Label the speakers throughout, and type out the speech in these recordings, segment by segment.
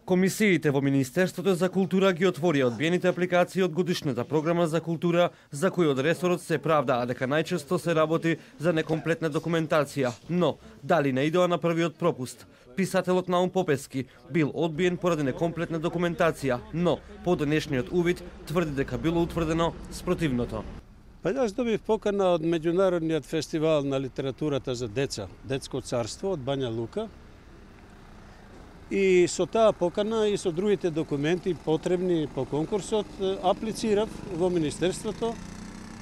Speaker 1: Комисиите во Министерството за култура ги отворија одбиените апликации од годишната програма за култура, за кои од ресорот се правдаа дека најчесто се работи за некомплетна документација. Но, дали не идоа на првиот пропуст? Писателот Наум Попески бил одбиен поради некомплетна документација, но по денешниот увид тврди дека било утврдено спротивното.
Speaker 2: Па јас добив покана од Меѓународниот фестивал на литературата за деца, Детско царство од Бања Лука. И со таа покана и со другите документи потребни по конкурсот аплицирав во Министерството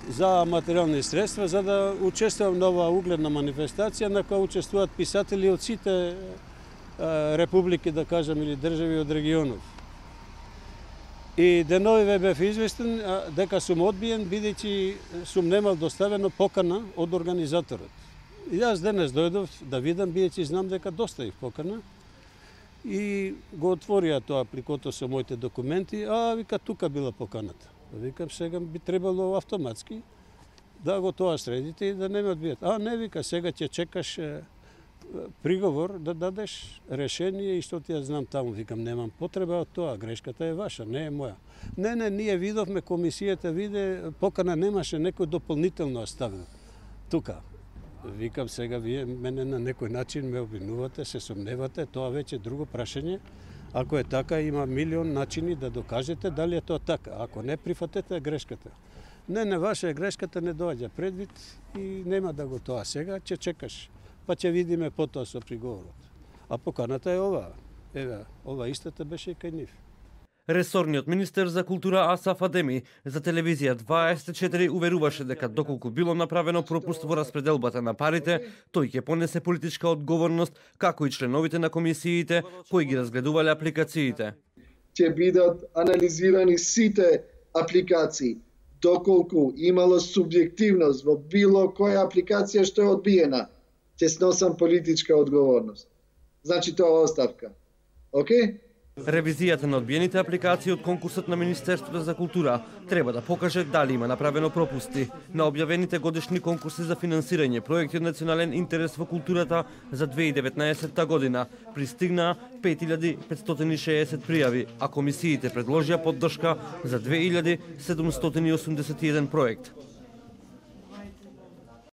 Speaker 2: за материјални средства за да учествувам на оваа угледна манифестација на која учествуваат писатели од сите републики, да кажам, или држави од регионов. И деновиве бев известен дека сум одбиен бидејќи сум немал доставено покана од организаторот. И јас денес дојдов да видам бидејќи знам дека доставив покана. И го отворија тоа апликото со моите документи, вика тука била поканата. Викам сега би требало автоматски да го тоа средите и да не ме одбијат. Не, вика, сега ќе чекаш приговор да дадеш решение и што ти ја знам таму. Викам, немам потреба од тоа, грешката е ваша, не е моја. Не, ние видовме, комисијата виде, покана немаше, некој дополнително оставил тука. Викам, сега вие мене на некој начин ме обвинувате, се сомневате, тоа веќе е друго прашање. Ако е така, има милион начини да докажете дали е тоа така. Ако не прифатете грешката. Не, ваша грешката не доаѓа предвид и нема да го тоа сега, ќе чекаш. Па ќе видиме потоа со приговорот. А поканата е оваа. Еве, ова истата беше и кај нив.
Speaker 1: Ресорниот министер за култура Асаф Адеми за телевизија 24 уверуваше дека доколку било направено пропуст во распределбата на парите, тој ќе понесе политичка одговорност, како и членовите на комисиите кои ги разгледувале апликациите.
Speaker 3: Ќе бидат анализирани сите апликации, доколку имало субјективност во било која апликација што е одбиена, ќе сносам политичка одговорност. Значи тоа оставка. Океј?
Speaker 1: Ревизијата на одбиените апликации од конкурсот на Министерството за култура треба да покаже дали има направено пропусти на објавените годишни конкурси за финансирање проекти од национален интерес во културата за 2019 година. Пристигнаа 5560 пријави, а комисиите предложија поддршка за 2781 проект.